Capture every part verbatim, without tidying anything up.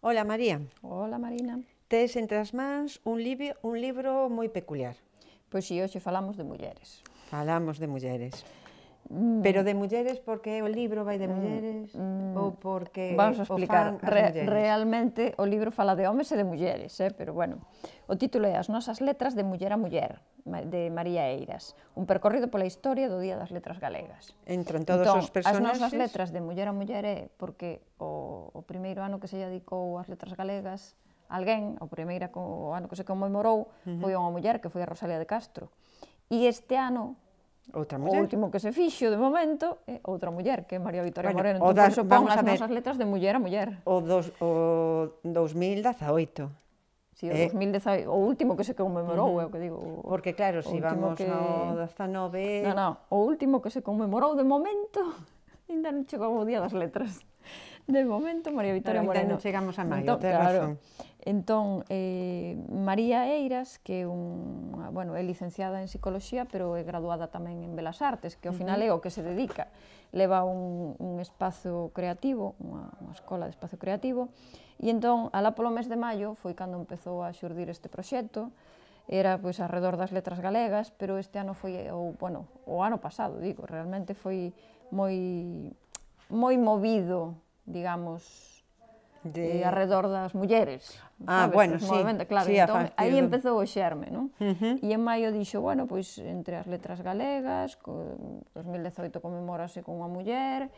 Ola, María. Ola, Marina. Tes entre as mans un libro, un libro moi peculiar. Pois si, hoxe falamos de mulleres. Falamos de mulleres. Mm. Pero de mulleres porque o libro vai de mulleres mm, ou porque Vamos a o explicar. fan as Re, mulleres? realmente o libro fala de homes e de mulleres, eh? Pero bueno, o título é As nosas letras de muller a muller, de María Eiras, un percorrido pola historia do Día das Letras Galegas. Entran todos entón, os personaxes. As nosas letras de muller a muller é porque o, o primeiro ano que se dedicou ás letras galegas alguén, o primeiro o ano que se conmemorou, uh-huh. foi unha muller que foi a Rosalía de Castro. E este ano, outra o muller. último que se fixo de momento é outra muller, que é María Victoria bueno, Moreno. Entón, das, por eso pon as ver, nosas letras de muller a muller. O, dos, o dos mil dezaoito. Si, sí, o eh? dos mil dezaoito, o último que se conmemorou, uh-huh. é o que digo. O, Porque claro, se si vamos que... ao dezanove... Non, non, o último que se conmemorou de momento, ainda non chegou o Día das Letras. De momento, María Victoria Pero Moreno. Ainda non chegamos a maio, entón, tens claro, razón. Entón, eh, María Eiras, que é un, bueno, é licenciada en Psicoloxía, pero é graduada tamén en Belas Artes, que ao final é o que se dedica. Leva un, un espazo creativo, unha, unha escola de espazo creativo, e entón, alá polo mes de maio, foi cando empezou a xurdir este proxecto. Era, pois, alrededor das letras galegas, pero este ano foi, ou, bueno, o ano pasado, digo, realmente foi moi, moi movido, digamos, de... eh, alrededor das mulleres. Ah, sabes? bueno, Pues, sí, claro, sí, entón, aí do... empezou o xerme, non? Uh-huh. E en maio dixo, bueno, pois, entre as letras galegas, dos mil dezaoito conmemorase con unha muller,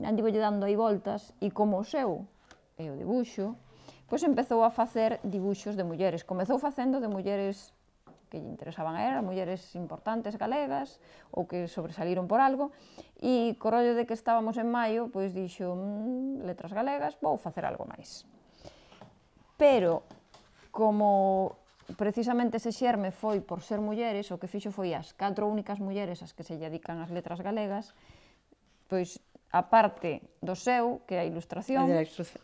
andivolle dando aí voltas, e como o seu é o dibuixo, pois empezou a facer dibuixos de mulleres. Comezou facendo de mulleres que lle interesaban a ela, mulleres importantes galegas, ou que sobresaliron por algo, e co rollo de que estábamos en maio, pois dixo, mmm, letras galegas, vou facer algo máis. Pero, como precisamente ese xerme foi por ser mulleres, o que fixo foi as catro únicas mulleres as que se dedican ás letras galegas, pois, a parte do seu, que é a ilustración,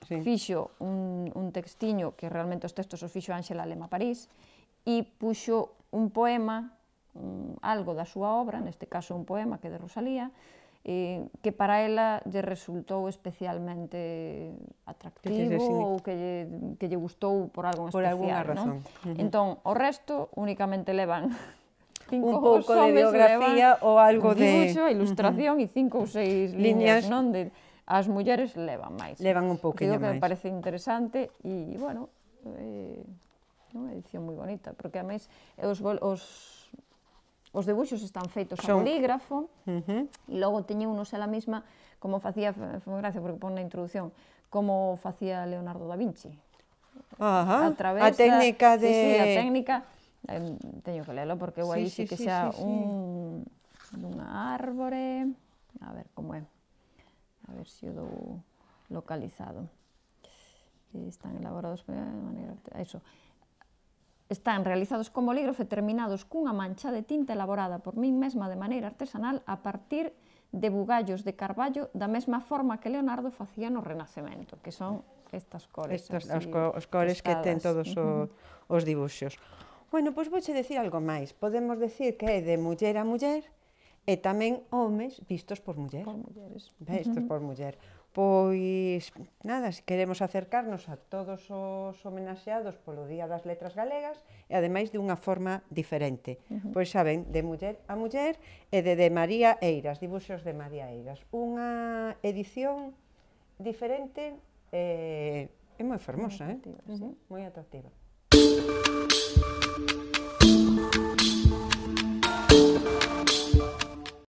sí. fixo un, un textiño, que realmente os textos os fixo Ángela Lema París, e puxo un poema, un, algo da súa obra, neste caso un poema que é de Rosalía, eh, que para ela lle resultou especialmente atractivo que ou que lle, que lle gustou por algo por especial, razón. Non? Uh-huh. Entón, o resto únicamente levan cinco un pouco de biografía ou algo de... dibuixo, ilustración uh-huh. e cinco ou seis liñas, non? De, as mulleres levan máis. Levan un pouquinho máis. Digo que máis. me parece interesante e, bueno, eh, unha edición moi bonita, porque a máis os, os, os debuxos están feitos a Son... bolígrafo, uh-huh. e logo teñe unos ela mesma, como facía, foi moi gracia porque pon na introducción, como facía Leonardo da Vinci. Ajá, a, través a técnica de... Sí, sí, a técnica, eh, teño que lelo, porque eu aí sí, sí, sí que xa sí, sí, un, sí. unha árbore, a ver como é, a ver se o dou localizado. Están elaborados de maneira... Eso. Están realizados con bolígrafo e terminados cunha mancha de tinta elaborada por min mesma de maneira artesanal a partir de bugallos de carballo da mesma forma que Leonardo facía no Renacemento, que son estas cores. Estos, así, os, co, os cores tostadas. Que ten todos uh-huh. o, os dibuxos. Bueno, pois vouche decir algo máis. Podemos decir que é de muller a muller e tamén homes vistos por muller. Por mulleres. Vistos uh-huh. por muller. Pois, nada, se queremos acercarnos a todos os homenaxeados polo Día das Letras Galegas e ademais de unha forma diferente. Uh-huh. Pois saben, de muller a muller e de, de María Eiras, dibuxos de María Eiras. Unha edición diferente e, e moi fermosa, moi atractiva, eh? sí. Moi atractiva.